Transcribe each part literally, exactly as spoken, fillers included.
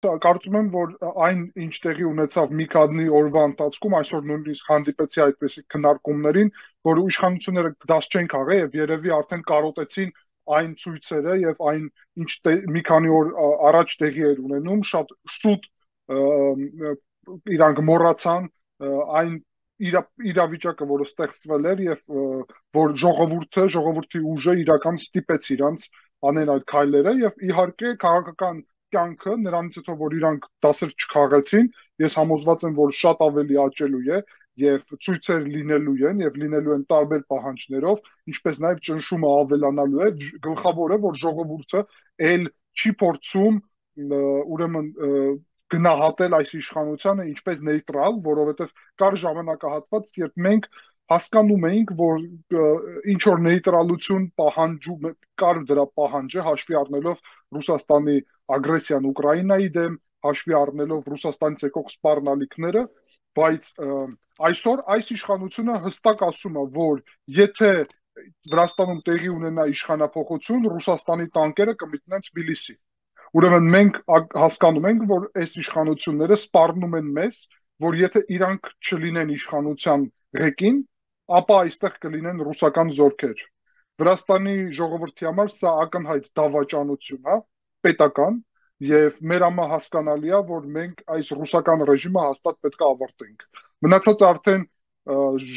Կարծում եմ, որ այն ինչ տեղի ունեցավ մի քանի օրվա ընթացքում, այսօր նույնիսկ հանդիպեցի այդպիսի քննարկումներին, որ իշխանությունները դաս չեն քաղել եւ երևի արդեն կարոտեցին այն ցույցերը եւ այն ինչ մի քանի օր առաջ տեղի էր ունենում, շատ շուտ իրանք մոռացան այն իրավիճակը, որը ստեղծվել էր եւ որ ժողովուրդը, ժողովրդի ուժը իրական ստիպեց իրանց անեն այդ քայլերը եւ իհարկե քաղաքական կյանքը նրանից հետո որ իրանք դասեր չքաղեցին, ես համոզված եմ, որ շատ ավելի աճելու է եւ ցույցեր լինելու են եւ լինելու են տարբեր պահանջներով, ինչպես նաեւ ճնշումը ավելանալու է, գլխավորը, որ ժողովուրդը ել չի փորձում ուրեմն գնահատել այս իշխանությանը ինչպես նեյտրալ, որովհետեւ կար ժամանակահատված, երբ մենք հասկանում էինք, որ ինչ որ նեյտրալություն պահանջում կար դրա պահանջը հաշվի առնելով Ռուսաստանի ագրեսիան Ուկրաինայի դեմ, հաշվի առնելով Ռուսաստանից եկող սպառնալիքները, բայց այսօր այս իշխանությունը հստակ ասում է, որ եթե Վրաստանում տեղի ունենա իշխանափոխություն, Ռուսաստանի տանկերը կմիտնեն Թբիլիսի։ Ուրեմն մենք հասկանում ենք, որ այս իշխանությունները սպառնում են մեզ, որ եթե իրանք չլինեն իշխանության ղեկին, ապա այստեղ կլինեն ռուսական զորքեր։ Վրաստանի ժողովրդի համար սա ակնհայտ դավաճանություն է, պետական, եւ մեր համար հասկանալի է, որ մենք այս ռուսական ռեժիմը հաստատ պետք է ավարտենք։ Մնացած արդեն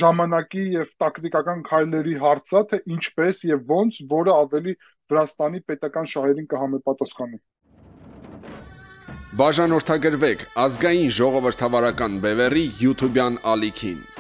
ժամանակի եւ տակտիկական քայլերի հարց է, թե ինչպես եւ ոնց, որը ավելի Վրաստանի պետական շահերին կհամապատասխանի։ Բաժանորդագրվեք ազգային ժողովրդավարական բևեռի YouTube-յան ալիքին։